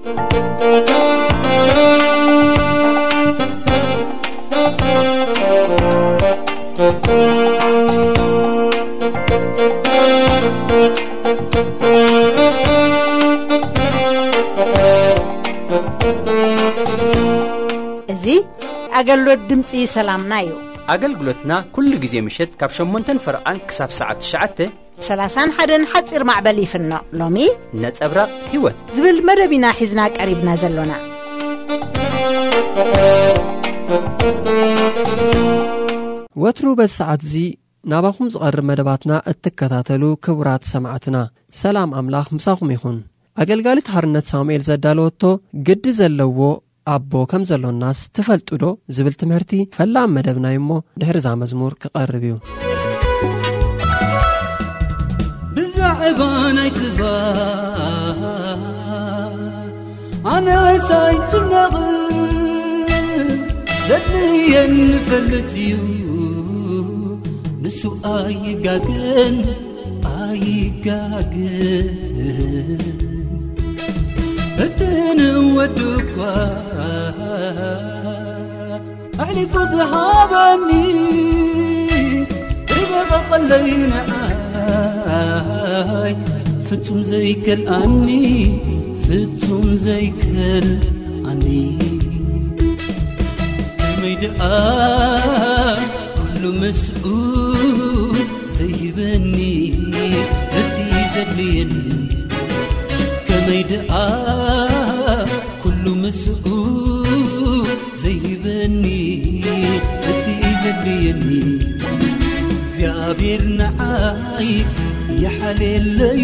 እዚ ኣገልግሎት ድምፂ ሰላምና እዩ። ኣገልግሎትና ኩሉ ግዜ ምሸት ካብ ሸሞንተን ፈረቓን ክሳብ ሰዓት ትሽዓተ ብ ሰላሳን ሓደን ሓፂር ማዕበል ይፍኖ። ሎሚ ነጸብራቕ ህይወት ዝብል መደብ ኢና ሒዝና ቀሪብና ዘሎና። ወትሩ በዚ ሰዓት እዚ ናባኹም ዝቐርብ መደባትና እትከታተሉ ክቡራት ሰማዕትና፣ ሰላም ኣምላኽ ምሳኹም ይኹን። ኣገልጋሊት ሓርነት ሳሙኤል ዘዳለወቶ ግዲ ዘለዎ ኣቦ ከም ዘሎናስ ትፈልጡ ዶ? ዝብል ትምህርቲ ፈላም መደብና እዩ እሞ ድሕሪ እዛ መዝሙር ክቐርብ እዩ። ብዛዕባ ናይ ትባ ኣነስ ኣይጭነቕን፣ ዘድልየኒ ፈልጥ እዩ፣ ንሱ ኣይጋገን፣ ኣይጋገን። እቲ ንወዱ እኳ ኣሕሊፉ ዝሃበኒ፣ ዘይበቐቐለይ ንዓይ፣ ፍጹም ዘይከልኣኒ፣ ፍጹም ዘይከልኣኒ። ከመይ ደኣ ኩሉ ምስኡ ዘይህበኒ፣ እቲ ዘድልየኒ። ከመይ ደኣ ኩሉ ምስኡ ዘይህበኒ፣ እቲ ዘድልየኒ። እግዚኣብሔር ንዓይ ይሓልየለዩ፣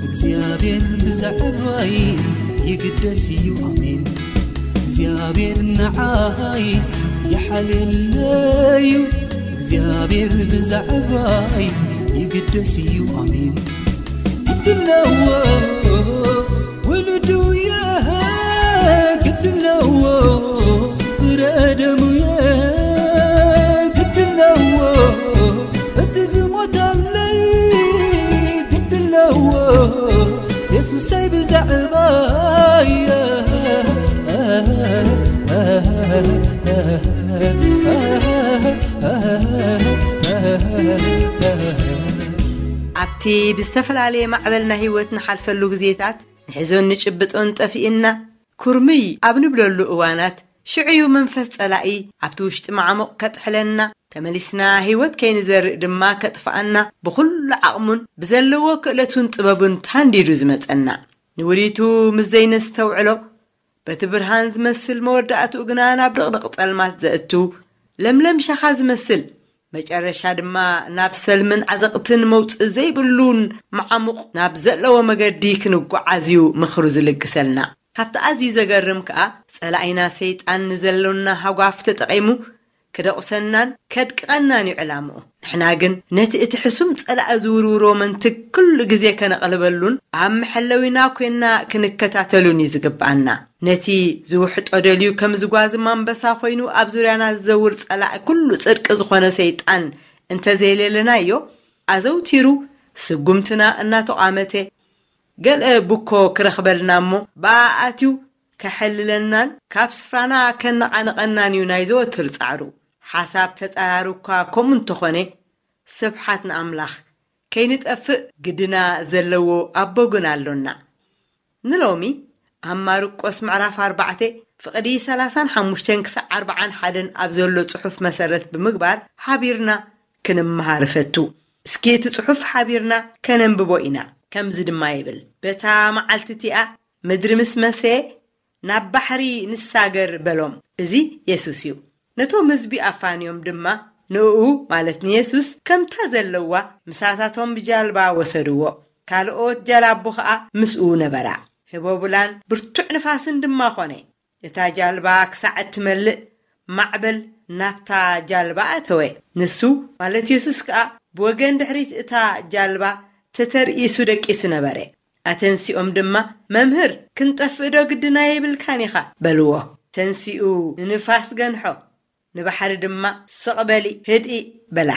እግዚኣብሔር ብዛዕባይ ይግደስ እዩ። ኣሜን። እግዚኣብሔር ንዓይ ይሓልየለዩ፣ እግዚኣብሔር ብዛዕባይ ይግደስ እዩ። ኣሜን። ግድለዎ ውልዱየ፣ ግድለዎ ፍረደሙየ፣ ግድለዎ እቲ ዝሞተለይ፣ ግድለዎ የሱሰይ ብዛዕባየ። ኣብቲ ብዝተፈላለየ ማዕበል ናይ ህይወት ንሓልፈሉ ግዜታት፣ ንሕዞን ንጭብጦን ጠፊእና፣ ኩርምይ ኣብ ንብለሉ እዋናት፣ ሽዑዩ መንፈስ ጸላኢ ኣብቲ ውሽጢ ማዕሙቕ ከጥሕለና፣ ተመሊስና ህይወት ከይንዘርእ ድማ ከጥፍኣና፣ ብኹሉ ዓቕሙን ብዘለዎ ክእለቱን ጥበቡን ታንዲዱ ዝመጸና። ንውዲቱ ምስ ዘይነስተውዕሎ፣ በቲ ብርሃን ዝመስል መወዳእትኡ ግና ናብ ድቕድቕ ጸልማት ዘእቱ፣ ለምለም ሸኻ ዝመስል መጨረሻ ድማ ናብ ሰልምን ዓዘቕትን መውጽእ ዘይብሉን መዓሙቕ ናብ ዘለዎ መገዲ ክንጓዓዝ እዩ ምኽሩ ዝልግሰልና። ካብቲ ኣዝዩ ዘገርም ከኣ፣ ጸላኢና ሰይጣን ንዘሎና ሃጓፍ ተጠቒሙ ክደቑሰናን ከድቅቐናን እዩ ዕላምኡ። ንሕና ግን ነቲ እቲ ሕሱም ጸላኢ ዝውርውሮ መንትግ ኩሉ ግዜ ከነቕልበሉን ኣብ መሐለዊና ኮይንና ክንከታተሉን እዩ ዝግብኣና። ነቲ ዝውሕጦ ደልዩ ከም ዝጓዝም ኣንበሳ ኮይኑ ኣብ ዙርያና ዝዘውር ጸላኢ ኩሉ ጽድቂ ዝኾነ ሰይጣን እንተዘይሌለናዮ፣ ኣዘውቲሩ ስጉምትና እናተቋመተ፣ ገለ ብኮ ክረኽበልና እሞ ብኣ ኣትዩ ከሐልለናን ካብ ስፍራና ከነቓንቐናን እዩ ናይ ዘወትር ጻዕሩ። ሓሳብ ተጻራሪ እኳ ከምኡ እንተኾነ፣ ስብሓት ንኣምላኽ፣ ከይንጠፍእ ግድና ዘለዎ ኣቦ ግን ኣሎና። ንሎሚ ኣብ ማርቆስ ምዕራፍ ኣርባዕተ ፍቕዲ ሰላሳን ሓሙሽተን ክሳዕ ኣርባዓን ሓደን ኣብ ዘሎ ጽሑፍ መሰረት ብምግባር ሓቢርና ክንመሃር እፈቱ። እስኪ እቲ ጽሑፍ ሓቢርና ከነንብቦ ኢና። ከምዚ ድማ ይብል፣ በታ መዓልቲ እቲኣ ምድሪ ምስ መሰየ፣ ናብ ባሕሪ ንሳገር በሎም። እዚ የሱስ እዩ። ነቶም ህዝቢ ኣፋንዮም ድማ ንእኡ፣ ማለት ንየሱስ፣ ከምታ ዘለዋ ምሳታቶም ብጃልባ ወሰድዎ። ካልኦት ጃላቡ ኸኣ ምስኡ ነበራ። ህቦብላን ብርቱዕ ንፋስን ድማ ኾነ። እታ ጃልባ ክሳዕ እትመልእ፣ ማዕበል ናብታ ጃልባ ኣተወ። ንሱ፣ ማለት የሱስ ከኣ ብወገን ድሕሪት እታ ጃልባ ተተርኢሱ ደቂሱ ነበረ። ኣተንሲኦም ድማ፣ "መምህር፣ ክንጠፍእ ዶ ግድና የብልካን ኢኻ?" በልዎ። ተንሲኡ ንንፋስ ገንሖ፣ ንባሕሪ ድማ፣ "ስቕ በሊ፣ ህድኢ" በላ።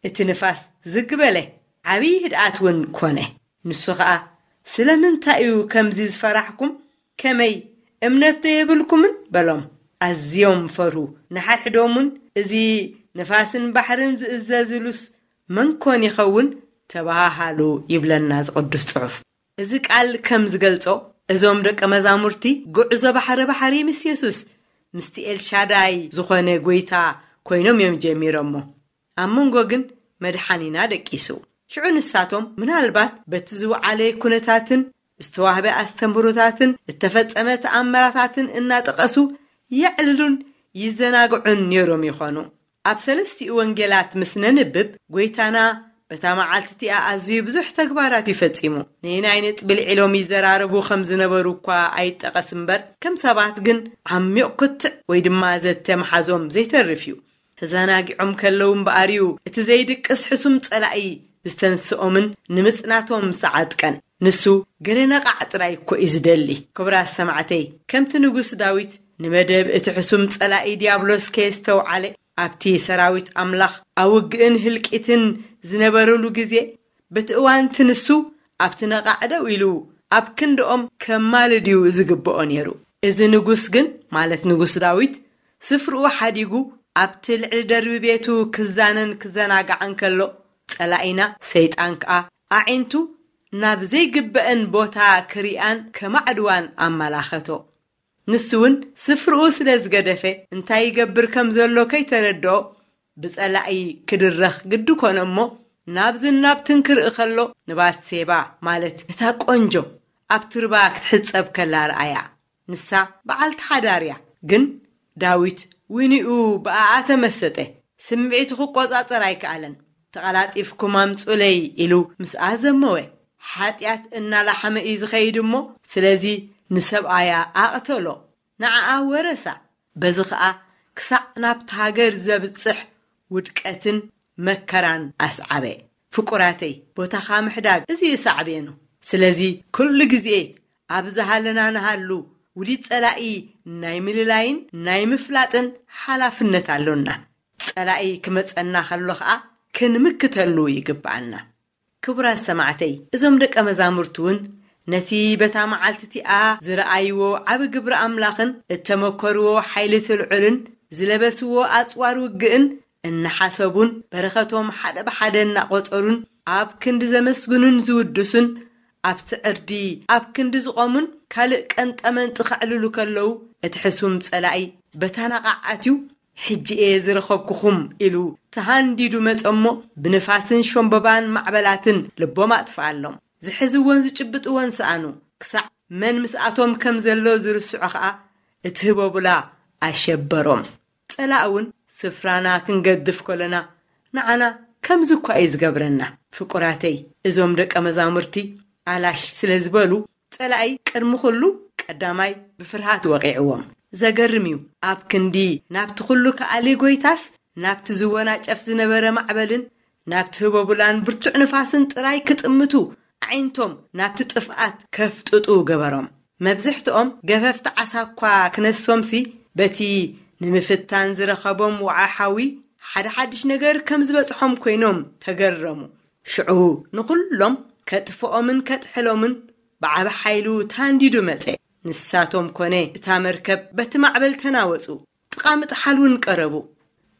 እቲ ንፋስ ዝግ በለ፣ ዓብዪ ህድኣት እውን ኮነ። ንሱ ኸኣ፣ "ስለምንታይ እዩ ከምዚ ዝፈራሕኩም? ከመይ፣ እምነትዶ የብልኩምን? በሎም። ኣዝዮም ፈርሁ። ንሓድሕዶም እውን፣ እዚ ንፋስን ባሕርን ዝእዘዝሉስ መን ኮን ይኸውን? ተበሃሃሉ ይብለና እዚ ቅዱስ ጽሑፍ። እዚ ቃል ከም ዝገልጾ፣ እዞም ደቀ መዛሙርቲ ጉዕዞ ባሕሪ ባሕሪ ምስ የሱስ፣ ምስቲ ኤልሻዳይ ዝኾነ ጎይታ ኮይኖም እዮም ጀሚሮሞ። ኣብ መንጎ ግን መድሓኒና ደቂሱ። ሽዑ ንሳቶም ምናልባት በቲ ዝወዓለ ኩነታትን ዝተዋህበ ኣስተምህሮታትን እተፈጸመ ተኣምራታትን እናጠቐሱ የዕልሉን ይዘናግዑን ነይሮም ይኾኑ። ኣብ ሰለስቲኡ ወንጌላት ምስ ነንብብ፣ ጎይታና በታ መዓልቲ እቲኣ ኣዝዩ ብዙሕ ተግባራት እዩ ፈጺሙ። ነየናይ ነጥቢ ልዒሎም ይዘራረቡ ከም ዝነበሩ እኳ ኣይጠቐስ እምበር፣ ከም ሰባት ግን ዓሚቕ ክትዕ ወይ ድማ ዘተ ምሓዞም ዘይተርፍ እዩ። ተዘናጊዖም ከለዉ እምበኣር እዩ እቲ ዘይድቅስ ሕሱም ጸላኢ ዝተንስኦምን ንምጽናቶም ዝዓጥቀን። ንሱ ገለ ነቓዕ ጥራይ እኮ እዩ ዝደሊ። ክቡራት ሰማዕተይ፣ ከምቲ ንጉስ ዳዊት ንመደብ እቲ ሕሱም ጸላኢ ዲያብሎስ ከየስተውዓለ፣ ኣብቲ ሰራዊት ኣምላኽ ኣብ ውግእን ህልቂትን ዝነበሩሉ ግዜ፣ በቲ እዋንቲ ንሱ ኣብቲ ነቓዕ ደው ኢሉ ኣብ ክንድኦም ከማልድ እዩ ዝግብኦ ነይሩ። እዚ ንጉስ ግን፣ ማለት ንጉስ ዳዊት፣ ስፍርኡ ሓዲጉ ኣብቲ ልዕሊ ደርቢ ቤቱ ክዛነን ክዘናጋዕን ከሎ፣ ጸላኢና ሰይጣን ከኣ ኣዒንቱ ናብ ዘይግበአን ቦታ ክሪኣን ከማዕድዋን ኣመላኸቶ። ንሱ እውን ስፍርኡ ስለ ዝገደፈ፣ እንታይ ይገብር ከም ዘሎ ከይተረድኦ፣ ብጸላኢ ክድረኽ ግዲ ኮነ እሞ፣ ናብዝን ናብትን ክርኢ ከሎ፣ ንባትሴባ፣ ማለት ነታ ቆንጆ፣ ኣብቲ ሩባ ክትሕጸብ ከላ ረኣያ። ንሳ በዓልቲ ሓዳር እያ። ግን ዳዊት ዊንኡ ብኣኣ ተመሰጠ። ስምዒቱ ክቆጻጸር ኣይከኣለን። "ተቐላጢፍኩም ኣምጹለይ" ኢሉ ምስኣ ዘመወ። ሓጢኣት እናላሓመ እዩ ዝኸይድ እሞ፣ ስለዚ ንሰብኣያ ኣቕተሎ። ንዓኣ ወረሳ። በዚ ኸኣ ክሳዕ ናብቲ ሃገር ዘብጽሕ ውድቀትን መከራን ኣስዓበ። ፍቁራተይ፣ ቦታኻ ምሕዳግ እዚ እዩ ሳዕቤኑ። ስለዚ ኩሉ ግዜ ኣብ ዝሃለና ንሃሉ፣ ውዲት ጸላኢ ናይ ምልላይን ናይ ምፍላጥን ሓላፍነት ኣሎና። ጸላኢ ክመጸና ከሎ ኸኣ ክንምክተሉ ይግብኣና። ክቡራት ሰማዕተይ፣ እዞም ደቀ መዛሙርቱ እውን ነቲ በታ መዓልቲ እቲኣ ዝረኣይዎ ዓቢ ግብሪ ኣምላኽን እተመከርዎ ሓይሊ ትልዑልን ዝለበስዎ ኣጽዋር ውግእን እናሓሰቡን በረኸቶም ሓደ ብሓደ እናቖጸሩን ኣብ ክንዲ ዘመስግኑን ዝውድሱን ኣብቲ ዕርዲ ኣብ ክንዲ ዝቖሙን ካልእ ቀንጠመንጢ ከዕልሉ ከለዉ፣ እቲ ሕሱም ጸላኢ በታ ነቓዕ ኣትዩ፣ "ሕጂ እየ ዝረኸብኩኹም" ኢሉ ተሃንዲዱ መጸ እሞ፣ ብንፋስን ሸምበባን ማዕበላትን ልቦም ኣጥፍኣሎም። ዝሕዝዎን ዝጭብጥዎን ሰኣኑ። ክሳዕ መን ምስኣቶም ከም ዘሎ ዝርስዖ ኸኣ፣ እቲ ህቦብላ ኣሸበሮም። ጸላእ እውን ስፍራና ክንገድፍ ከሎና፣ ንዓና ከምዚ እኳ እዩ ዝገብረና። ፍቁራተይ፣ እዞም ደቀ መዛሙርቲ ኣላሽ ስለ ዝበሉ፣ ጸላኢ ቅድሚ ኩሉ ቀዳማይ ብፍርሃት ወቒዕዎም። ዘገርም እዩ። ኣብ ክንዲ ናብቲ ኩሉ ከኣሊ ጎይታስ፣ ናብቲ ዝወናጨፍ ዝነበረ ማዕበልን ናብቲ ህቦብላን ብርቱዕ ንፋስን ጥራይ ክጥምቱ፣ ኣዒንቶም ናብቲ ጥፍኣት ከፍጥጡ ገበሮም። መብዝሕትኦም ገፈፍቲ ዓሳ እኳ ክነሶምሲ፣ በቲ ንምፍታን ዝረኸቦም ወዓ ሓዊ ሓደ ሓድሽ ነገር ከም ዝበጽሖም ኮይኖም ተገረሙ። ሽዑ ንኹሎም ከጥፍኦምን ከጥሕሎምን ብዓቢ ሓይሉ ታንዲዱ መጸ። ንሳቶም ኮነ እታ መርከብ በቲ ማዕበል ተናወጹ። ጥቓ ምጥሓል እውን ቀረቡ።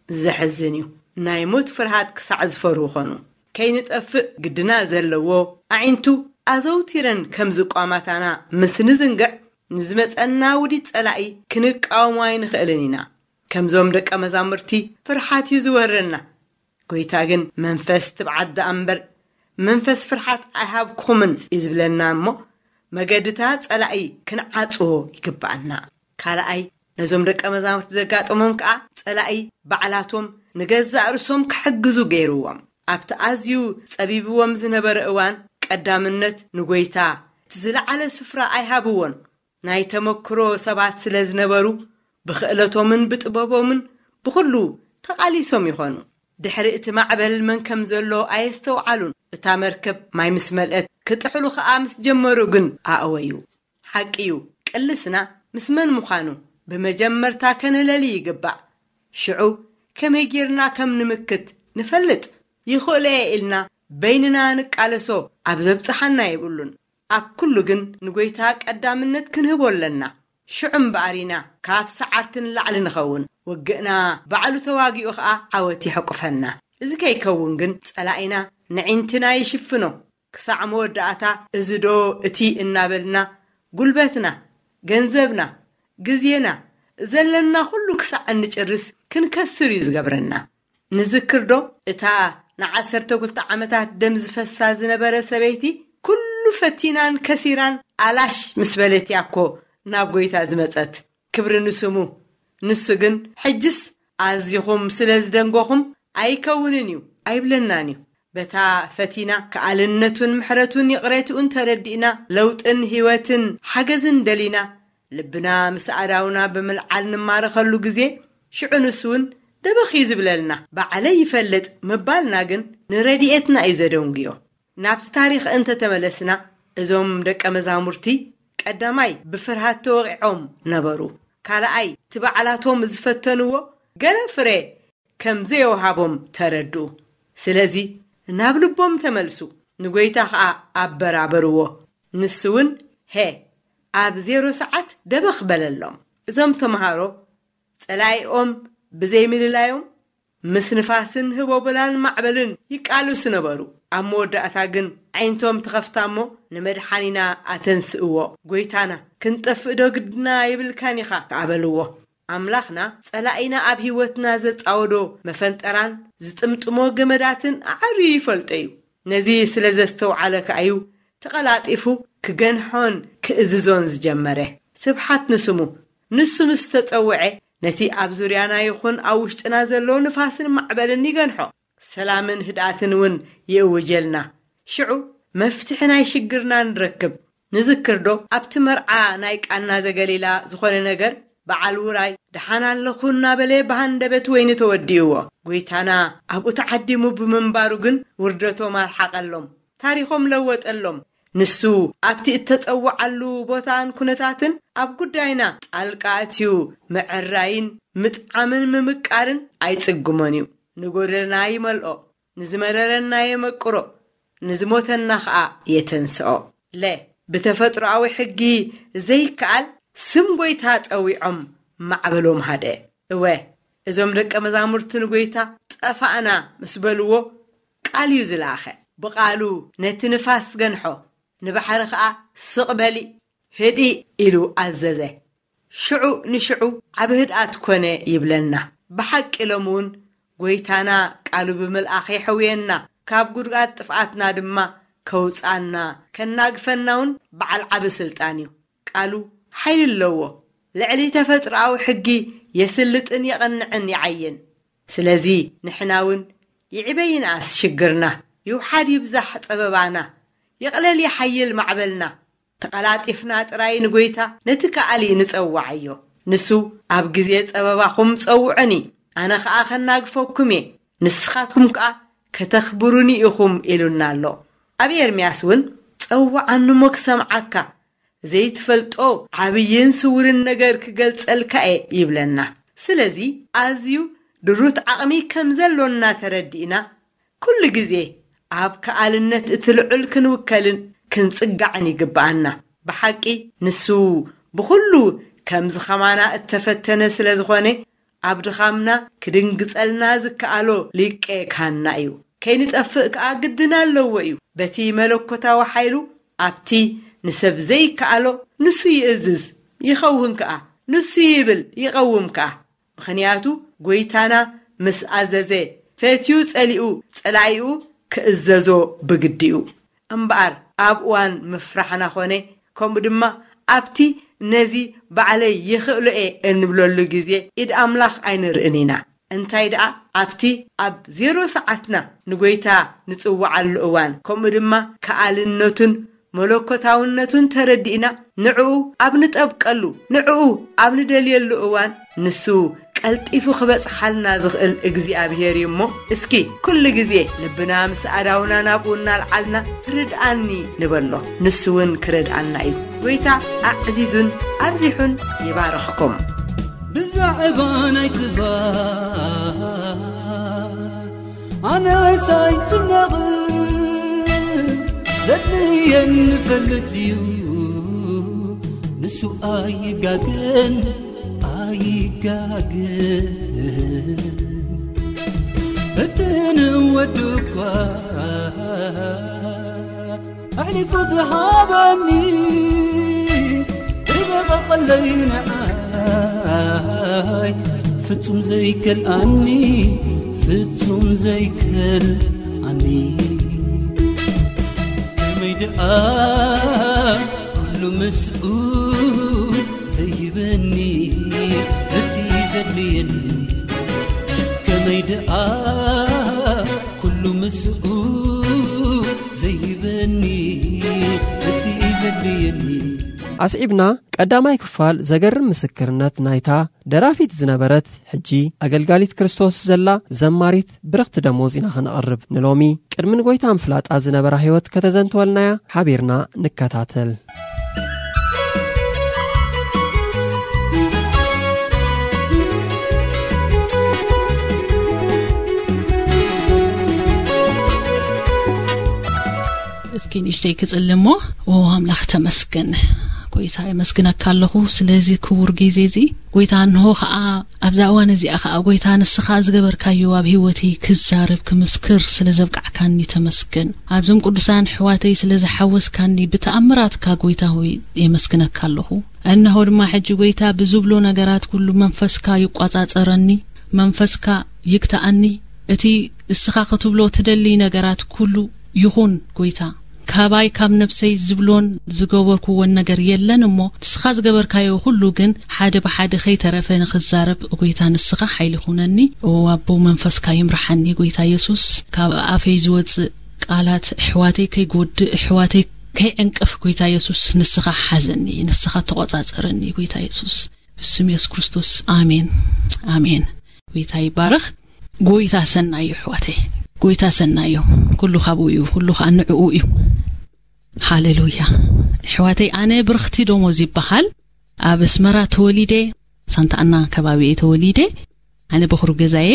ዘሕዝን እዩ። ናይ ሞት ፍርሃት ክሳዕ ዝፈርሁ ኾኑ። ከይንጠፍእ ግድና ዘለዎ ኣዒንቱ ኣዘውቲረን ከም ዝቋማታና ምስ ንዝንግዕ፣ ንዝመጸና ውዲት ጸላኢ ክንቃወሞ ኣይንኽእልን ኢና። ከምዞም ደቀ መዛሙርቲ ፍርሃት እዩ ዝወረና። ጎይታ ግን፣ "መንፈስ ትብዓት ደኣ እምበር፣ መንፈስ ፍርሃት ኣይሃብኩኹምን" እዩ ዝብለና እሞ፣ መገድታት ጸላኢ ክንዓጽዎ ይግብኣና። ካልኣይ፣ ነዞም ደቀ መዛሙርቲ ዘጋጠሞም ከኣ፣ ጸላኢ ባዕላቶም ንገዛእ ርእሶም ክሕግዙ ገይርዎም። ኣብቲ ኣዝዩ ጸቢብዎም ዝነበረ እዋን፣ ቀዳምነት ንጎይታ እቲ ዝለዓለ ስፍራ ኣይሃብዎን። ናይ ተመክሮ ሰባት ስለ ዝነበሩ፣ ብኽእለቶምን ብጥበቦምን ብኹሉ ተቓሊሶም ይኾኑ። ድሕሪ እቲ ማዕበል መን ከም ዘሎ ኣየስተውዓሉን። እታ መርከብ ማይ ምስ መልአት፣ ክጥሕሉ ኸኣ ምስ ጀመሩ ግን ኣእወዩ። ሓቂ እዩ፣ ቅልስና ምስ መን ምዃኑ ብመጀመርታ ከነለሊ ይግባእ። ሽዑ ከመይ ጌርና ከም ንምክት ንፈልጥ። ይኽእሎ እየ ኢልና በይንና ንቃለሶ ኣብ ዘብጽሓና የብሉን። ኣብ ኩሉ ግን ንጎይታ ቀዳምነት ክንህቦ ኣለና። ሽዑ እምበኣር ኢና ካብ ሰዓርቲ ንላዕሊ ንኸውን። ውግእና ባዕሉ ተዋጊኡ ኸኣ ዓወት ይሕቁፈና። እዚ ከይከውን ግን ጸላኢና ንዒንትና ይሽፍኖ። ክሳዕ መወዳእታ እዚ ዶ እቲ እናበልና ጉልበትና፣ ገንዘብና፣ ግዜና፣ ዘለና ኩሉ ክሳዕ እንጭርስ ክንከስር እዩ ዝገብረና። ንዝክር ዶ እታ ንዓሰርተ ክልተ ዓመታት ደም ዝፈሳ ዝነበረ ሰበይቲ፣ ኩሉ ፈቲናን ከሲራን ኣላሽ ምስ በለት እያ እኮ ናብ ጎይታ ዝመጸት። ክብሪ ንስሙ። ንሱ ግን ሕጅስ ኣዚኹም ስለ ዝደንጎኹም ኣይከውንን እዩ ኣይብለናን እዩ። በታ ፈቲና ከኣልነቱን ምሕረቱን ይቕሬትኡን ተረዲእና ለውጥን ህይወትን ሓገዝን ደሊና ልብና ምስ ኣዳውና ብምልዓል ንማረኸሉ ግዜ ሽዑ ንሱ እውን ደበኽ እዩ ዝብለልና። ባዕለይ ይፈልጥ ምባልና ግን ንረድኤትና እዩ ዘደንጉዮ። ናብቲ ታሪኽ እንተተመለስና እዞም ደቀ መዛሙርቲ ቀዳማይ ብፍርሃት ተወቒዖም ነበሩ። ካልኣይ እቲ ባዕላቶም ዝፈተንዎ ገለ ፍረ ከም ዘየውሃቦም ተረድኡ። ስለዚ ናብ ልቦም ተመልሱ፣ ንጎይታ ኸኣ ኣበራበርዎ። ንሱ እውን ሄ ኣብ ዜሮ ሰዓት ደበኽ በለሎም። እዞም ተምሃሮ ጸላኢኦም ብዘይምልላዮም ምስ ንፋስን ህቦብላን ማዕበልን ይቃልሱ ነበሩ። ኣብ መወዳእታ ግን ዓይንቶም ትኸፍታ እሞ ንመድሓኒና ኣተንስእዎ። ጎይታና ክንጠፍእ ዶ ግድና የብልካን ኢኻ ከኣ በልዎ። ኣምላኽና ጸላኢና ኣብ ህይወትና ዘጻወዶ መፈንጠራን ዝጥምጥሞ ገመዳትን ኣዐርዩ ይፈልጦ እዩ። ነዚ ስለ ዘስተውዓለ ከኣ እዩ ተቐላጢፉ ክገንሖን ክእዝዞን ዝጀመረ። ስብሓት ንስሙ። ንሱ ምስ ተጸውዐ ነቲ ኣብ ዙርያና ይኹን ኣብ ውሽጥና ዘሎ ንፋስን ማዕበልን ይገንሖ። ሰላምን ህድኣትን እውን ይእውጀልና። ሽዑ መፍትሒ ናይ ሽግርና ንረክብ። ንዝክር ዶ ኣብቲ መርዓ ናይ ቃና ዘገሊላ ዝኾነ ነገር? በዓል ውራይ ደሓን ኣለኹ እናበለ ብሃንደበት ወይኒ ተወዲእዎ። ጎይታና ኣብኡ ተዓዲሙ ብምንባሩ ግን ውርደቶም ኣርሓቐሎም፣ ታሪኾም ለወጠሎም። ንሱ ኣብቲ እተጸውዓሉ ቦታን ኩነታትን ኣብ ጉዳይና ጣልቃ ኣትዩ ምዕራይን ምጥዓምን ምምቃርን ኣይጽግሞን እዩ። ንጎደለና ይመልኦ፣ ንዝመረረና የመቅሮ፣ ንዝሞተና ኸኣ የተንስኦ። ለ ብተፈጥሮኣዊ ሕጊ ዘይከኣል ስም ጎይታ ጸዊዖም ማዕበሎም ሃደ። እወ፣ እዞም ደቀ መዛሙርቲ ንጎይታ ጠፋእና ምስ በልዎ ቃል እዩ ዝለኣኸ። ብቓሉ ነቲ ንፋስ ገንሖ፣ ንባሕሪ ኸኣ ስቕ በሊ፣ ህድእ ኢሉ ኣዘዘ። ሽዑ ንሽዑ ዓቢ ህድኣት ኮነ ይብለና። ብሓቂ ሎም እውን ጎይታና ቃሉ ብምልኣኽ የሕውየና፣ ካብ ጉድኣት ጥፍኣትና ድማ ከውጻና ከናግፈና እውን በዓል ዓቢ ስልጣን እዩ። ቃሉ ሓይሊ ኣለዎ። ልዕሊ ተፈጥሮኣዊ ሕጊ የስልጥን የቐንዕን ይዓይን። ስለዚ ንሕና እውን ይዕበ ይንኣስ ሽግርና፣ ይውሓድ ይብዛሕ ጸበባና፣ ይቕለል ይሓይል ማዕበልና፣ ተቐላጢፍና ጥራይ ንጎይታ ነቲ ከኣሊ ንጸውዓዮ። ንሱ ኣብ ግዜ ጸበባኹም ጸውዑኒ፣ ኣነ ኸኣ ከናግፈኩም እየ፣ ንስኻትኩም ከኣ ከተኽብሩኒ ኢኹም ኢሉና ኣሎ። ኣብ ኤርምያስ እውን ጸውዓኒ እሞ ክሰምዓካ፣ ዘይትፈልጦ ዓብይን ስውርን ነገር ክገልጸልካ እየ ይብለና። ስለዚ ኣዝዩ ድሩት ዓቕሚ ከም ዘሎና ተረዲእና ኩሉ ግዜ ኣብ ከኣልነት እቲ ልዑል ክንውከልን ክንጽጋዕን ይግብኣና። ብሓቂ ንሱ ብኹሉ ከምዚ ኸማና እተፈተነ ስለ ዝኾነ ኣብ ድኻምና ክድንግጸልና ዝከኣሎ ሊቄ ካህንና እዩ። ከይንጠፍእ ከኣ ግድን ኣለዎ እዩ። በቲ መለኮታዊ ሓይሉ ኣብቲ ንሰብ ዘይከኣሎ ንሱ ይእዝዝ ይኸውን ከኣ፣ ንሱ ይብል ይቐውም ከኣ። ምኽንያቱ ጎይታና ምስ ኣዘዘ ፈትዩ ጸሊኡ ጸላኢኡ ክእዘዞ ብግዲ እዩ። እምበኣር ኣብ እዋን ምፍራሕና ኾነ ከምኡ ድማ ኣብቲ ነዚ ባዕለይ ይኽእሎ እየ እንብለሉ ግዜ ኢድ ኣምላኽ ኣይንርእን ኢና። እንታይ ደኣ ኣብቲ ኣብ ዜሮ ሰዓትና ንጎይታ ንጽውዓሉ እዋን ከምኡ ድማ ከኣልነቱን መለኮታውነቱን ተረዲእና ንዕኡ ኣብ ንጠብቀሉ ንዕኡ ኣብ ንደልየሉ እዋን ንሱ ቀልጢፉ ክበጽሓልና ዝኽእል እግዚኣብሔር እዩ እሞ እስኪ ኩሉ ግዜ ልብና ምስ ኣዳውና ናብኡ እናልዓልና ርድኣኒ ንበሎ። ንሱ እውን ክረድኣና እዩ። ጎይታ ኣዕዚዙን ኣብዚሑን ይባርኽኩም። ብዛዕባ ናይ ጽባሕ ኣነስ ኣይጭነቕን። ዘድልየን ንፈልጥ እዩ፣ ንሱ ኣይጋገን፣ ኣይጋገን። እቲ ንወዱ እኳ ኣሕሊፉ ዝሃበኒ፣ ዘይበቐለይ ንዓይ ፍጹም ዘይከልኣኒ፣ ፍጹም ዘይከልኣኒ። ከመይ ደኣ ኩሉ ምስኡ ዘይህበኒ፣ እቲ ዘድልየኒ። ከመይ ደኣ ኩሉ ምስኡ ዘይህበኒ፣ እቲ ዘድልየኒ። ኣስዒብና ቀዳማይ ክፋል ዘገርም ምስክርነት ናይታ ደራፊት ዝነበረት፣ ሕጂ ኣገልጋሊት ክርስቶስ ዘላ ዘማሪት ብርኽቲ ደሞዝ ኢና ከነቕርብ። ንሎሚ ቅድሚ ንጎይታ ምፍላጣ ዝነበራ ህይወት ከተዘንትወልናያ ሓቢርና ንከታተል። እስኪ ንእሽተይ ክጽሊ እሞ። ኦ ኣምላኽ ተመስገን፣ ጎይታ የመስግነካ ኣለኹ ስለዚ ክቡር ግዜ እዚ። ጎይታ እንሆ ኸኣ ኣብዛ እዋን እዚኣ ኸኣ ጎይታ ንስኻ ዝገበርካዮ ኣብ ህይወተይ ክዛረብ ክምስክር ስለ ዘብቃዕካኒ ተመስገን። ኣብዞም ቅዱሳን ኣሕዋተይ ስለ ዝሓወስካኒ ብተኣምራትካ ጎይታ ሆይ የመስግነካ ኣለኹ። እነሆ ድማ ሕጂ ጎይታ ብዝብሎ ነገራት ኩሉ መንፈስካ ይቋጻጸረኒ፣ መንፈስካ ይግታኣኒ። እቲ እስኻ ክትብሎ ትደሊ ነገራት ኩሉ ይኹን ጎይታ። ካባይ ካብ ነፍሰይ ዝብሎን ዝገበርኩዎን ነገር የለን እሞ ንስኻ ዝገበርካዮ ኩሉ ግን ሓደ ብሓደ ከይተረፈ ንኽዛረብ ጎይታ ንስኻ ሓይሊ ኩነኒ። ኦ ኣቦ መንፈስካ ይምርሓኒ ጎይታ የሱስ። ካብ ኣፈይ ዝወጽእ ቃላት ኣሕዋተይ ከይጎድእ ኣሕዋተይ ከይዕንቅፍ ጎይታ የሱስ ንስኻ ሓዘኒ፣ ንስኻ ተቖጻጸረኒ ጎይታ የሱስ። ብስም የሱስ ክርስቶስ ኣሜን። ኣሜን። ጎይታ ይባረኽ። ጎይታ ሰናዩ ኣሕዋተይ፣ ጎይታ ሰናዩ። ኩሉ ካብኡ እዩ፣ ኩሉ ከዓ ንዕኡ እዩ። ሃሌሉያ። ኣሕዋተይ ኣነ ብርኽቲ ደሞዝ ይበሃል። ኣብ ኣስመራ ተወሊደ፣ ሳንታ ኣና ከባቢ እየ ተወሊደ። ኣነ በኹሪ ገዛየ።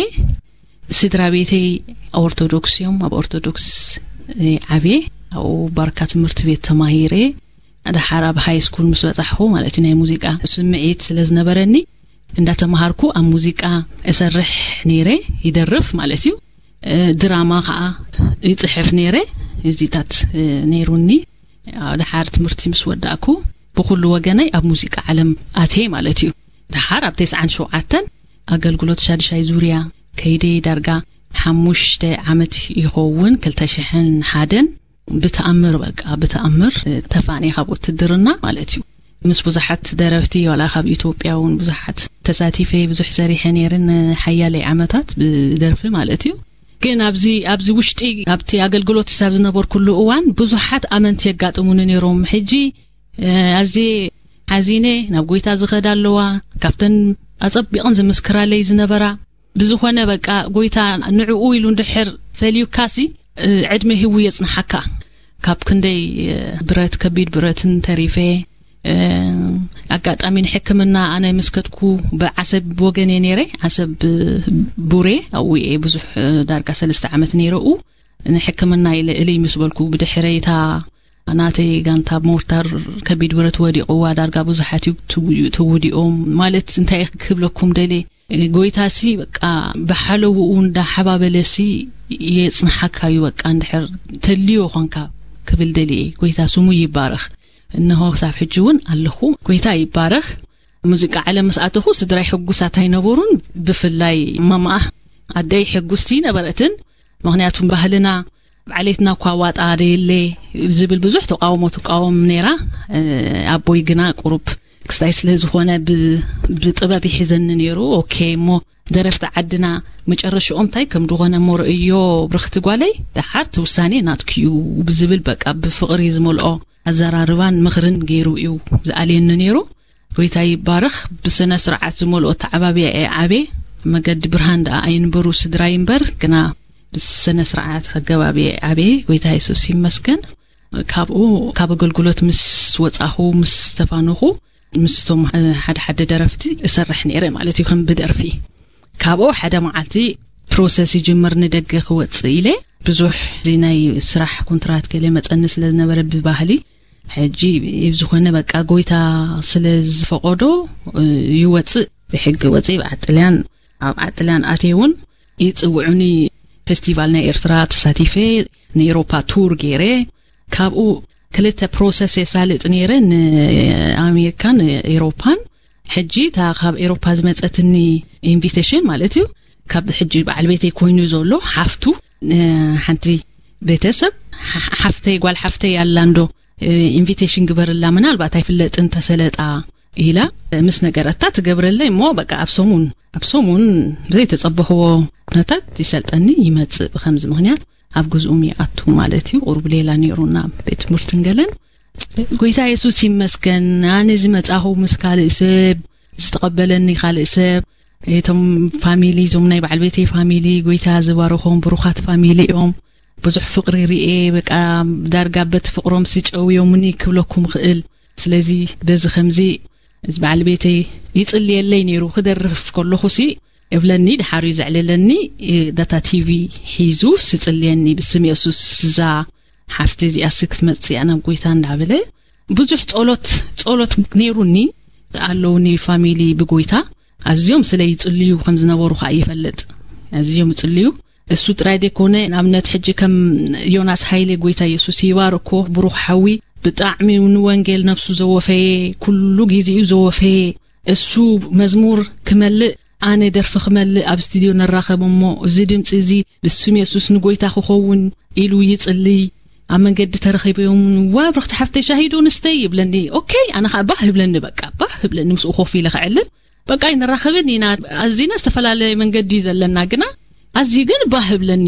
ስድራ ቤተይ ኦርቶዶክስ እዮም። ኣብ ኦርቶዶክስ እየ ዓብየ። ኣብኡ ባርካ ትምህርቲ ቤት ተማሂረ። ደሓር ኣብ ሃይ ስኩል ምስ በጻሕኹ ማለት እዩ ናይ ሙዚቃ ስምዒት ስለ ዝነበረኒ እንዳተማሃርኩ ኣብ ሙዚቃ እሰርሕ ነይረ። ይደርፍ ማለት እዩ። ድራማ ከዓ ይጽሕፍ ነይረ። እዚታት ነይሩኒ። ደሓር ትምህርቲ ምስ ወዳእኩ ብኩሉ ወገነይ ኣብ ሙዚቃ ዓለም ኣትየ ማለት እዩ። ደሓር ኣብ ተስዓን ሸውዓተን ኣገልግሎት ሻድሻይ ዙርያ ከይደ። ዳርጋ ሓሙሽተ ዓመት ይኸውን። ክልተ ሽሕን ሓደን ብተኣምር በቃ ብተኣምር ተፋንየ ካብ ውትድርና ማለት እዩ። ምስ ብዙሓት ደረፍቲ ዋላ ካብ ኢትዮጵያ እውን ብዙሓት ተሳቲፈ ብዙሕ ሰሪሐ ነይርን ሓያለይ ዓመታት ብደርፊ ማለት እዩ። ግን ኣብዚ ኣብዚ ውሽጢ ኣብቲ ኣገልግሎት ክሳብ ዝነበርኩሉ እዋን ብዙሓት ኣመንቲ የጋጥሙኒ ነይሮም። ሕጂ ኣዝየ ሓዚነ ናብ ጎይታ ዝኸዳ ኣለዋ ካብተን ኣጸቢቕን ዝምስክራለይ ዝነበራ። ብዝኾነ በቃ ጎይታ ንዕኡ ኢሉ እንድሕር ፈልዩካሲ ዕድመ ህቡ የጽንሓካ። ካብ ክንደይ ብረት ከቢድ ብረትን ተሪፈ። ኣጋጣሚ ንሕክምና ኣነ ምስ ከድኩ ብዓሰብ ወገን እየ ነይረ። ዓሰብ ቡሬ ኣብኡ እየ ብዙሕ ዳርጋ ሰለስተ ዓመት ነይረኡ። ንሕክምና ኢለ እልይ ምስ በልኩ ብድሕረይታ ናተይ ጋንታ ሞርታር ከቢድ ብረት ወዲቕዋ ዳርጋ ብዙሓት እዩ ትውድኡ- ትውድኦም ማለት እንታይ ክብለኩም ደልየ ጎይታሲ በቃ ብሓለውኡ እንዳሓባበለሲ የጽንሓካ እዩ። በቃ እንድሕር ተልዮ ኾንካ ክብል ደልየ። ጎይታ ስሙ ይባረኽ። እነሆ ክሳብ ሕጂ እውን ኣለኹ። ጎይታ ይባረኽ። ሙዚቃ ዓለም ምስ ኣተኹ ስድራይ ሕጉሳት ኣይነበሩን። ብፍላይ ማማኣ ኣደይ ሕጉስቲ ነበረትን። ምኽንያቱም ባህልና ዓሌትና እኳ ዋጣ ደየለ ዝብል ብዙሕ ተቃውሞ ትቃወም ነይራ። ኣቦይ ግና ቁሩብ ክስታይ ስለ ዝኾነ ብጥበብ ይሕዘኒ ነይሩ። ኦኬ እሞ ደረፍቲ ዓድና መጨረሽኦም እንታይ ከም ዝኾነ እሞ ርእዮ ብርኽቲ ጓለይ፣ ደሓር እቲ ውሳኔ ናትክዩ ብዝብል በቃ ብፍቕሪ ዝመልኦ ኣዘራርባን ምኽርን ገይሩ እዩ ዝኣልየኒ ነይሩ። ጎይታ ይባረኽ። ብስነ ስርዓት ዝመልኦ ተዓባቢያ እየ ዓብየ። መገዲ ብርሃን ደኣ ኣይንበሩ ስድራይ እምበር ግና ብስነ ስርዓት ኣገባቢ እየ ዓብየ። ጎይታ የሱስ ይመስገን። ካብኡ ካብ ኣገልግሎት ምስ ወጻኹ ምስ ተፋነኹ ምስቶም ሓደ ሓደ ደረፍቲ እሰርሕ ነይረ ማለት እዩ ከም ብደርፊ። ካብኡ ሓደ መዓልቲ ፕሮሰስ ይጅምር፣ ንደገ ክወጽእ ኢለ። ብዙሕ እዚ ናይ ስራሕ ኮንትራት ገለ መጸኒ ስለ ዝነበረ ብባህሊ፣ ሕጂ ዝኾነ በቃ ጎይታ ስለ ዝፈቐዶ፣ እ፣ ይወጽእ። ብሕጊ ወጽእ። ኣብ ዓጥልያን፣ ኣብ ዓጥልያን ኣትየ እውን ይጽውዑኒ። ፌስቲቫል ናይ ኤርትራ ተሳቲፈ፣ ንኤሮፓ ቱር ገይረ። ካብኡ ክልተ ፕሮሰስ የሳልጥ ነይረ፣ ንኣሜሪካን ኤሮፓን። ሕጂ እታ ካብ ኤሮፓ ዝመጸትኒ ኢንቪቴሽን ማለት እዩ፣ ካብ ሕጂ በዓል ቤተይ ኮይኑ ዘሎ ሓፍቱ፣ እ፣ ሓንቲ ቤተሰብ፣ ሓ-፣ ሓፍተይ፣ ጓል ሓፍተይ ኣላ እንዶ፣ እ፣ ኢንቪቴሽን ግበርላ፣ ምናልባት ኣይፍለጥን ተሰለጣ ኢላ ምስ ነገረታ ትገብረለይ እሞ፣ በቃ ኣብ ሰሙን፣ ኣብ ሰሙን ዘይተጸበኽዎ ኩነታት ይሰልጠኒ ይመጽእ። ብኸምዚ ምኽንያት ኣብ ግዝኡም ይኣቱ ማለት እዩ። ቁሩብ ሌላ ነይሩ ናብ ቤት ትምህርትን ገለን። ጎይታ የሱስ ይመስገን። ኣነ ዝመጻኹ ምስ ካልእ ሰብ፣ ዝተቐበለኒ ካልእ ሰብ፣ እቶም ፋሚሊ፣ እዞም ናይ በዓል ቤተይ ፋሚሊ፣ ጎይታ ዝባረኾም ብሩኻት ፋሚሊ እዮም። ብዙሕ ፍቕሪ ርኤ፣ በቃ ዳርጋ በቲ ፍቕሮም ስጨውዮምኒ ክብለኩም ክእል። ስለዚ በዚ ከምዚ እዚ በዓል ቤተይ ይጽልየለይ ነይሩ። ክደርፍ ከለኹ ሲ እብለኒ፣ ድሓር እዩ ዘዕልለኒ። እ፣ ዳታ ቲቪ ሒዙ ስጽልየኒ፣ ብስም የሱስ እዛ ሓፍቲ እዚኣስ ክትመጽእ እያ ናብ ጎይታ እንዳበለ ብዙሕ ጸሎት፣ ጸሎት ነይሩኒ። ኣለውኒ ፋሚሊ ብጎይታ ኣዝዮም ስለ ይጽልዩ ከም ዝነበሩ ከኣ ይፈልጥ። ኣዝዮም ይጽልዩ። እሱ ጥራይ ደይኮነ፣ ንኣብነት ሕጂ ከም ዮናስ ሃይለ፣ ጎይታ የሱስ ይባርኮ፣ ብሩኽ ሓዊ፣ ብጣዕሚ ንወንጌል ነብሱ ዘወፈየ፣ ኩሉ ግዜኡ ዘወፈየ፣ እሱ መዝሙር ክመልእ፣ ኣነ ደርፊ ክመልእ ኣብ ስቱድዮ ንራኸብ እሞ፣ እዚ ድምጺ እዚ ብስም የሱስ ንጎይታ ክኸውን ኢሉ ይጽልይ፣ ኣብ መንገዲ ተረኺቦም፣ "ዋ፣ ብርኽቲ ሓፍተይ፣ ሻሂ ዶ ንስተይ?" ይብለኒ። ኦኬ፣ ኣነ ኸኣ ባህ ይብለኒ፣ በቃ፣ ባህ ይብለኒ፣ ምስኡ ኮፍ ኢለ ከዕልል። በቃ፣ ኣይንራኸብን ኢና፣ ኣዚና ዝተፈላለየ መንገዲ እዩ ዘለና፣ ግና ኣዝዩ ግን ባህ ይብለኒ።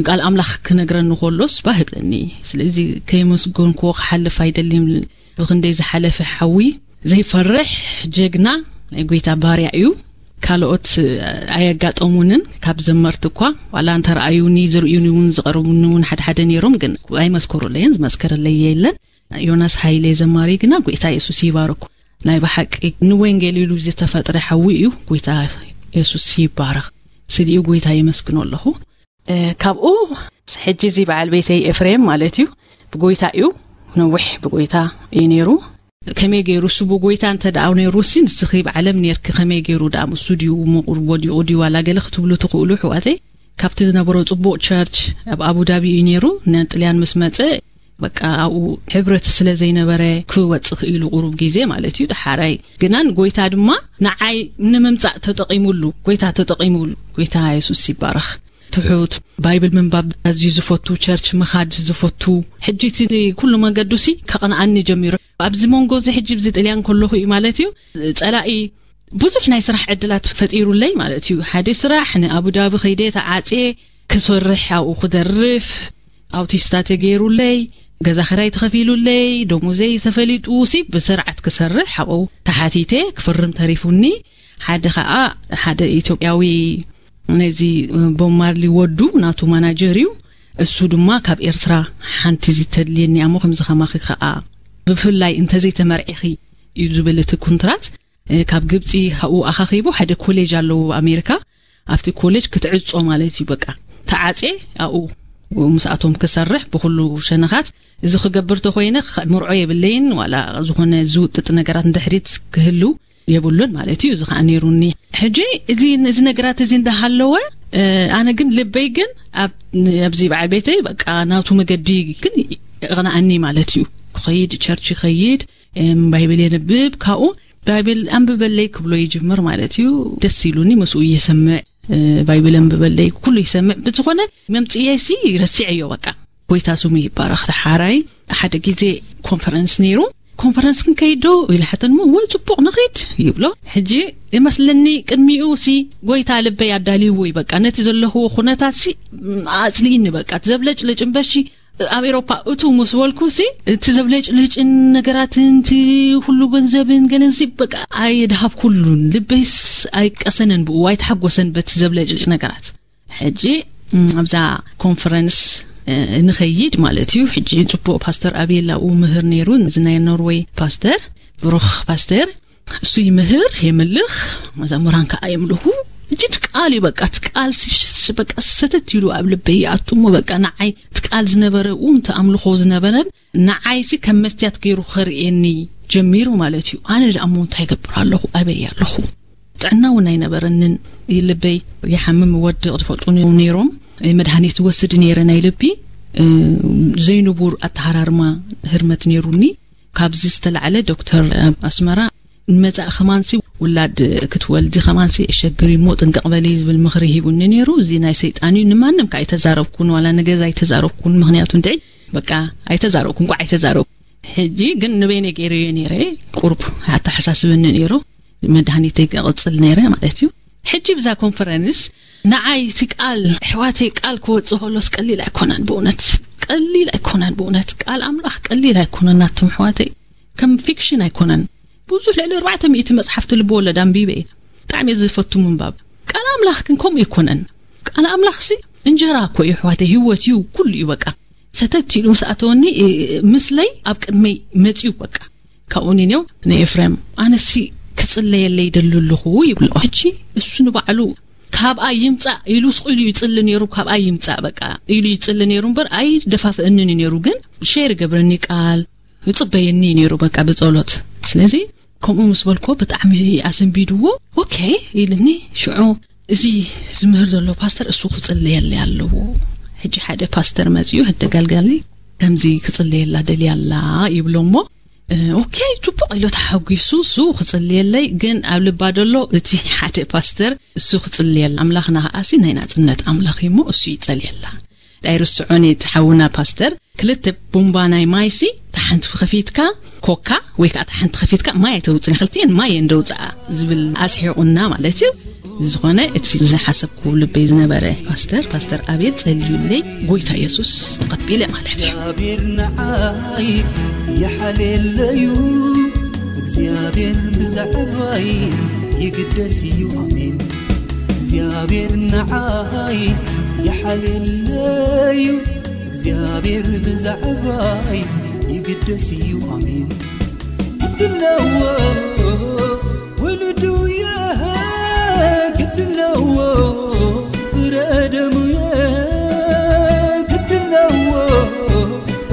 ቃል ኣምላኽ ክነግረኒ ከሎስ ባህ ይብለኒ። ስለዚ ከየመስገንክዎ ክሓልፍ ኣይደልን። ብኽንደይ ዝሓለፈ ሓዊ፣ ዘይፈርሕ ጀግና ናይ ጎይታ ባርያ እዩ። ካልኦት ኣየጋጠሙንን፣ ካብ ዘመርቲ እኳ ዋላ እንተረኣዩኒ፣ ዝርእዩኒ እውን፣ ዝቐርቡኒ እውን ሓደ ሓደ ነይሮም፣ ግን ኣይመስከሩለይን፣ ዝመስከረለይ የለን። ዮናስ ሃይለ ዘማሪ ግና ጎይታ የሱስ ይባርኩ። ናይ ብሓቂ ንወንጌል ኢሉ ዝተፈጥረ ሓዊ እዩ። ጎይታ የሱስ ይባረኽ። ስሊኡ ጎይታ የመስግኖ ኣለኹ። እ፣ ካብኡ ሕጂ እዚ በዓል ቤተይ ኤፍሬም ማለት እዩ፣ ብጎይታ እዩ፣ ነዊሕ ብጎይታ እዩ ነይሩ። ከመይ ገይሩ እሱ ብጎይታ እንተ ደኣ ነይሩ ሲ፣ ንስኺ ብዓለም ነርኪ፣ ከመይ ገይሩ ደኣ ምስኡ ድዩ ምቑር ወዲቑ ድዩ ዋላ ገለ ክትብሉ ትኽእሉ ኣሕዋተይ። ካብቲ ዝነበሮ ጽቡቕ ቸርች ኣብ ኣቡዳቢ እዩ ነይሩ። ንጥልያን ምስ መጸ፣ በቃ ኣብኡ ሕብረት ስለ ዘይነበረ ክወጽእ ክኢሉ ቁሩብ ግዜ ማለት እዩ። ደሓራይ ግናን ጎይታ ድማ ንዓይ ንምምጻእ ተጠቒሙሉ፣ ጎይታ ተጠቒሙሉ። ጎይታ የሱስ ይባረኽ። ትሑት፣ ባይብል ምንባብ ኣዝዩ ዝፈቱ፣ ቸርች ምኻድ ዝፈቱ፣ ሕጂ እቲ ኩሉ መንገዱ ሲ ከቕንኣኒ ጀሚሩ። ኣብዚ መንጎ እዚ ሕጂ ብዚ ጥልያን ከለኹ እዩ ማለት እዩ፣ ጸላኢ ብዙሕ ናይ ስራሕ ዕድላት ፈጢሩለይ ማለት እዩ። ሓደ ስራሕ ንኣቡዳቢ ከይደ ተዓጽየ ክሰርሕ፣ ኣብኡ ክደርፍ፣ ኣውቲስታ ተገይሩለይ፣ ገዛ ክራይ ተኸፊሉለይ፣ ደሞዘይ ተፈሊጡ ሲ ብስርዓት ክሰርሕ ኣብኡ ተሓቲተ ክፍርም ተሪፉኒ። ሓደ ኸኣ ሓደ ኢትዮጵያዊ ነዚ ቦብ ማርሊ ወዱ ናቱ ማናጀር እዩ። እሱ ድማ ካብ ኤርትራ ሓንቲ ዝተድልየኒ እሞ ከምዚ ከማኺ ከኣ ብፍላይ እንተዘይተመርዒኺ እዩ ዝብል እቲ ኩንትራት። እ፣ ካብ ግብጺ ካብኡ ኣኻኺቡ ሓደ ኮሌጅ ኣለዎ ኣብ ኣሜሪካ። ኣብቲ ኮሌጅ ክትዕጾ ማለት እዩ በቃ። ተዓጽየ ኣብኡ ምስኣቶም ክሰርሕ ብኹሉ ሸነኻት። እዚ ክገብር ተኾይነ ክምርዖ የብለይን፣ ዋላ ዝኾነ ዝውጥጥ ነገራት ንድሕሪት ክህሉ የብሉን ማለት እዩ። እዚ ኸዓ ነይሩኒ። ሕጂ እዚ፣ እዚ ነገራት እዚ እንዳሃለወ፣ እ፣ ኣነ ግን ልበይ ግን ኣብ፣ ኣብዚ በዓል ቤተይ በቃ ናቱ መገዲ ግን ይቕንኣኒ ማለት እዩ። ክኸይድ፣ ቸርች ይኸይድ፣ እም፣ ባይብል የንብብ። ካብኡ ባይብል ኣንብበለይ ክብሎ ይጅምር ማለት እዩ። ደስ ኢሉኒ፣ ምስኡ ይሰምዕ፣ እ፣ ባይብል ኣንብበለይ፣ ኩሉ ይሰምዕ። ብዝኾነ መምጽኤሲ ረሲዐዮ በቃ። ጎይታ ስሙ ይባረኽ። ሓራይ ሓደ ግዜ ኮንፈረንስ ነይሩ። "ኮንፈረንስ ክንከይድ ዶ?" ኢሉ ሓተን። "እሞ ወይ ጽቡቕ ንኺድ" ይብሎ። ሕጂ ይመስለኒ ቅድሚኡ ሲ ጎይታ ልበይ ኣዳልይዎ እዩ በቃ። ነቲ ዘለኽዎ ኩነታት ሲ ኣጽልኢኒ በቃ። እቲ ዘብለጭልጭ እምበሺ ኣብ ኤሮፓ እቱ ምስ በልኩ ሲ እቲ ዘብለጭልጭን ነገራትን እቲ ኩሉ ገንዘብን ገለን ሲ በቃ ኣይድሃብኩሉን። ልበይስ ኣይቀሰነን ብኡ፣ ኣይተሓጎሰን በቲ ዘብለጭልጭ ነገራት። ሕጂ፣ እም፣ ኣብዛ ኮንፈረንስ፣ እ፣ ንኸይድ ማለት እዩ። ሕጂ ጽቡቕ ፓስተር ኣቤል ኣብኡ ምህር ነይሩ፣ እዚ ናይ ኖርወይ ፓስተር፣ ብሩኽ ፓስተር። እሱ ይምህር፣ የምልኽ፣ መዘምራን ከኣ የምልኹ። ሕጂ እቲ ቃል እዩ፣ በቃ እቲ ቃል ሲ-፣ ሲ-፣ በቃ ሰተት ኢሉ ኣብ ልበይ ይኣቱ እሞ፣ በቃ ንዓይ እቲ ቃል ዝነበረ፣ ኡ፣ እቲ ኣምልኾ ዝነበረን ንዓይሲ ከም መስትያት ገይሩ ከርእየኒ ጀሚሩ ማለት እዩ። ኣነ ደኣ እሞ እንታይ ይገብር ኣለኹ? ኣበይ ኣለኹ? ጥዕና እውን ኣይነበረንን። ልበይ ይሓምም፣ ወድቕ፣ ዝፈልጡ ነይሮም። መድሃኒት ወስድ ነይረ ናይ ልቢ፣ እ፣ ዘይንቡር ኣተሃራርማ ህርመት ነይሩኒ። ካብዚ ዝተላዕለ ዶክተር ኣብ ኣስመራ ንመጻኢ ከማንሲ ውላድ ክትወልዲ ከማንሲ ዕሸግር እሞ ጥንቅቕ በሊ ዝብል ምኽሪ ሂቡኒ ነይሩ። እዚ ናይ ሰይጣን እዩ። ንማንም ከ ኣይተዛረብኩን፣ ዋላ ንገዛ ኣይተዛረብኩን። ምኽንያቱ እንድዒ በቃ ኣይተዛረብኩን፣ ቋዕ ኣይተዛረብኩን። ሕጂ ግን ንበይነ ገይረዮ ነይረ፣ ቁሩብ ኣተሓሳስበኒ ነይሩ። መድሃኒተይ ክቕጽል ነይረ ማለት እዩ። ሕጂ ብዛ ኮንፈረንስ ንዓይ እቲ ቃል፣ ኣሕዋተይ፣ ቃል ክወጽእ ከሎስ ቀሊል ኣይኮነን ብእውነት። ቀሊል ኣይኮነን ብእውነት። ቃል ኣምላኽ ቀሊል ኣይኮነን ናትኩም ኣሕዋተይ። ከም ፊክሽን ኣይኮነን። ብዙሕ ልዕሊ ኣርባዕተ ሚእቲ መጽሓፍቲ ልቢ ወለድ ኣንቢበ እየ። ብጣዕሚ እየ ዝፈቱ ምንባብ። ቃል ኣምላኽ ግን ከምኡ ኣይኮነን። ቃል ኣምላኽሲ እንጀራ እኮ እዩ ኣሕዋተይ፣ ህይወት እዩ፣ ኩሉ እዩ በቃ። ሰተት ኢሉ ምስ ኣተወኒ፣ እ፣ ምስለይ ኣብ ቅድመይ መጺኡ በቃ። ካብኡ ንኔው ንኤፍሬም፣ "ኣነሲ ክጽለየለይ ይደሊ ኣለኹ" ይብሎ። ሕጂ እሱ ንባዕሉ "ካብኣ ይምጻእ" ኢሉ ስቕ ኢሉ ይጽሊ ነይሩ፣ "ካብኣ ይምጻእ" በቃ ኢሉ ይጽሊ ነይሩ እምበር ኣይደፋፍእንን እዩ ነይሩ። ግን ሼር ይገብረኒ ቃል፣ ይጽበየኒ እዩ ነይሩ በቃ ብጸሎት። ስለዚ ከምኡ ምስ በልኮ ብጣዕሚ ኣሰንቢድዎ። "ኦኬ" ኢልኒ። ሽዑ "እዚ ዝምህር ዘሎ ፓስተር እሱ ክጽለየለይ ኣለዎ። ሕጂ ሓደ ፓስተር መጺኡ፣ ሓደ ገልጋሊ ከምዚ ክጽለየላ ደልያ ኣላ" ይብሎ እሞ፣ "እ፣ ኦኬ፣ ጽቡቕ" ኢሉ ተሓጒሱ፣ እሱ ክጽልየለይ፣ ግን ኣብ ልባ ደሎ እቲ ሓደ ፓስተር እሱ ክጽልየላ፣ ኣምላኽና ከኣሲ ናይ ናጽነት ኣምላኽ እዩ እሞ እሱ ይጸልየላ። ኣይርስዖን እቲ ሓውና ፓስተር፣ ክልተ ቡምባ ናይ ማይሲ፣ እታ ሓንቲ ከፊትካ ኮካ ወይ ከዓ እታ ሓንቲ ከፊትካ ማይ ኣይተውፅን፣ ክልቲኤን ማይ እየን ደውፅኣ ዝብል ኣስሒቑና ማለት እዩ። ዝኾነ እቲ ዝሓሰብኩ ልበይ ዝነበረ ፓስተር፣ ፓስተር ኣቤል ጸልዩለይ፣ ጎይታ የሱስ ተቐቢለ ማለት እዩ። እግዚኣብሔር ንዓይ ይሓልየለዩ፣ እግዚኣብሔር ብዛዕባይ ይግደስ እዩ። ኣሜን። እግዚኣብሔር ንዓይ ይሓልየለዩ፣ እግዚኣብሔር ብዛዕባይ ይግደስ እዩ። ኣሜን። ግድለዎ ውሉዱ የህ ግድለዎ ፍረደሙ የህ ግድለዎ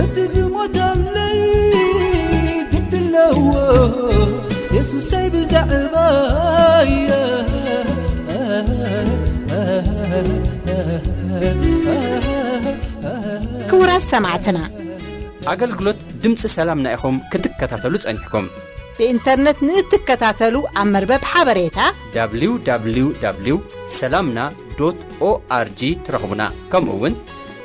እቲ ዝሞተለይ ግድለዎ የሱሰይ ብዛዕባየ። ክቡራት ሰማዕትና፣ ኣገልግሎት ድምፂ ሰላምና ኢኹም ክትከታተሉ ጸኒሕኩም። ብኢንተርነት ንእትከታተሉ ኣብ መርበብ ሓበሬታ www ሰላምና ዶት ኦኣርጂ ትረኽቡና። ከምኡ እውን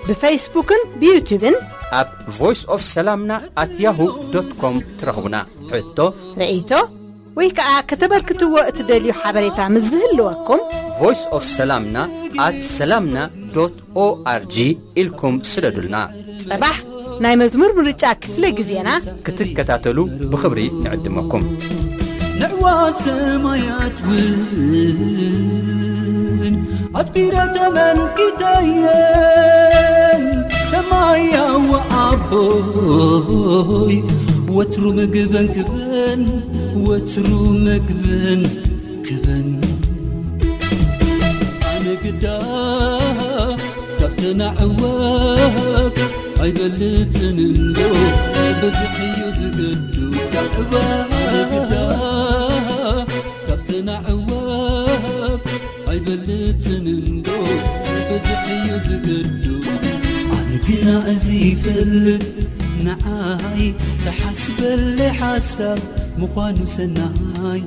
ብፌስቡክን ብዩቱብን ኣብ voice of ሰላምና at yahoo dot com ትረኽቡና። ሕቶ፣ ርእይቶ ወይ ከዓ ከተበርክትዎ እትደልዩ ሓበሬታ ምስ ዝህልወኩም voice of ሰላምና at ሰላምና ዶት ኦኣርጂ ኢልኩም ስደዱልና። ጽባሕ ናይ መዝሙር ምርጫ ክፍለ ግዜና ክትከታተሉ ብኽብሪ ንዕድመኩም። ንዕዋ ሰማያት እውን ኣትኲረ ተመልኪተየን ሰማያዊ ኣቦይ ወትሩ ምግበን ክበን ወትሩ ምግበን ክበን ኣነ ግዳ ካብተን ኣዕዋፍ ኣይበልጽን እንዶ ብዙሕ እዩ ዝገዱ ዛዕባ ኣነ ግዳ ካብተን ኣዕዋፍ ኣይበልጽን እንዶ ብዙሕ እዩ ዝገዱ ኣነ ግና እዚ ይፈልጥ ንዓይ ተሓስበለይ ሓሳብ ምዃኑ ሰናይ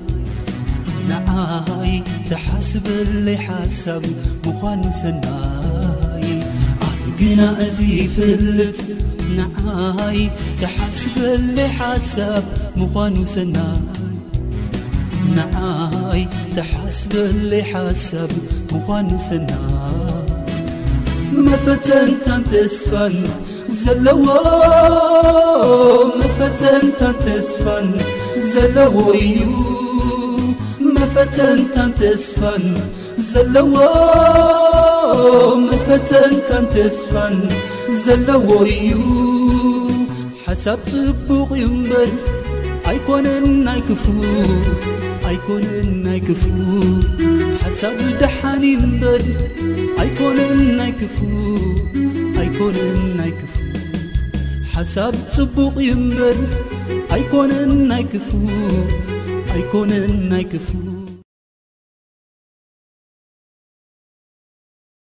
ንዓይ ተሓስበለይ ሓሳብ ምዃኑ ሰናይ ኣነ ግና እዚ ይፈልጥ ንዓይ ተሓስበለይ ሓሳብ ምዃኑ ሰናይ ንዓይ ተሓስበለይ ሓሳብ ምዃኑ ሰናይ መፈተንታን ተስፋን ዘለዎ መፈተንታን ተስፋን ዘለዎ እዩ መፈተንታን ተስፋን ዘለዎ መፈተንታን ተስፋን ዘለዎ እዩ ሓሳብ ጽቡቕ እዩ እምበር ኣይኮነን ናይ ክፉ ኣይኮነን ናይ ክፉ ሓሳብ ደሓን ይንበር ኣይኮነን ናይ ክፉ ኣይኮነን ናይ ክፉ ሓሳብ ጽቡቕ ይንበር ኣይኮነን ናይ ክፉ ኣይኮነን ናይ ክፉ